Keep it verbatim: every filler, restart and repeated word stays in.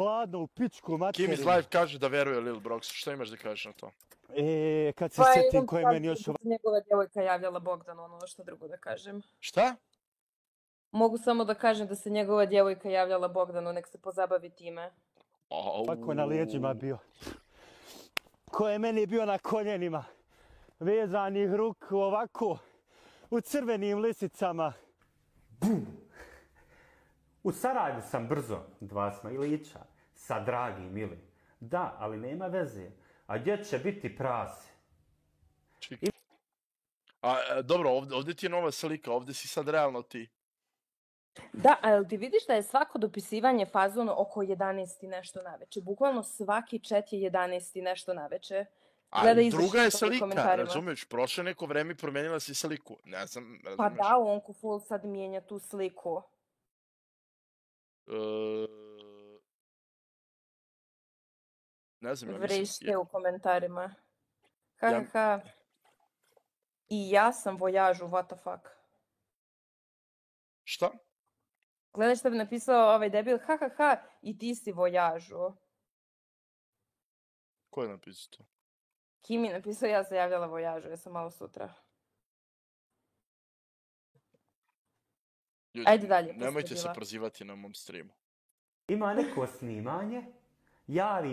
hladno u pičku materinu. Kim iz live kaže da veruje Lil Brox. Šta imaš da kažeš na to? E, kad se Pa sjetim imam ko je sad meni još da ovako... se njegova djevojka javljala Bogdanu, ono što drugo da kažem. Šta? Mogu samo da kažem da se njegova djevojka javljala Bogdanu, nek se pozabavi time. Ovako na lijeđima bio. Ko je meni bio na koljenima. Vezanih ruku ovako. U crvenim lisicama. Bum! U Sarajevu sam brzo, dva smajlića, sa dragim ili. Da, ali nema veze. A gdje će biti prase? I... A, dobro, ovdje, ovdje ti je nova slika, ovdje si sad realno ti. Da, ali ti vidiš da je svako dopisivanje fazonu oko jedanaest i nešto naveče. Bukvalno svaki chat je jedanaest i nešto naveče. A druga je slika, razumiješ, prošle neko vreme promijenila si sliku. Ne znam, razumiješ. Pa da, onko full sad mijenja tu sliku. Uh, ne znam, ja Vrište mislim... u komentarima. Ha, ja... ha, I ja sam vojažu, what the fuck. Šta? Gledaj što bi napisao ovaj debil, ha, ha, ha, i ti si vojažu. Ko je napisao to? Kim je napisao, ja se javljala vojažu, ja sam malo sutra. Ljudi, ajde dalje. Nemojte se prozivati na mom streamu. Ima neko snimanje, javi